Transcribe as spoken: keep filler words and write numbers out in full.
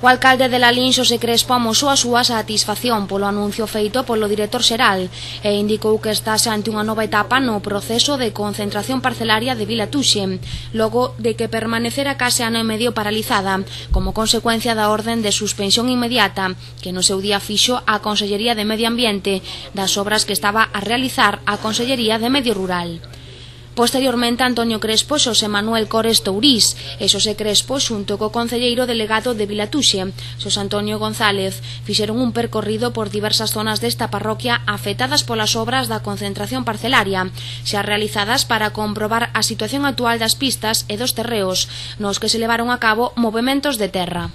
O alcalde de Lalín, Xosé Crespo, amosou a súa satisfacción polo anuncio feito polo director xeral e indicou que estase ante unha nova etapa no proceso de concentración parcelaria de Vilatuxe, logo de que permanecera case ano e medio paralizada como consecuencia da orden de suspensión inmediata que no seu día fixo a Consellería de Medio Ambiente das obras que estaba a realizar a Consellería de Medio Rural. Posteriormente, Antonio Crespo, Xosé Manuel Cores Tourís e Xosé Crespo, xunto co concelleiro delegado de Vilatuxe, Xosé Antonio González, fixeron un percorrido por diversas zonas desta parroquia afectadas polas obras da concentración parcelaria, xa realizadas para comprobar a situación actual das pistas e dos terreos, nos que se levaron a cabo movementos de terra.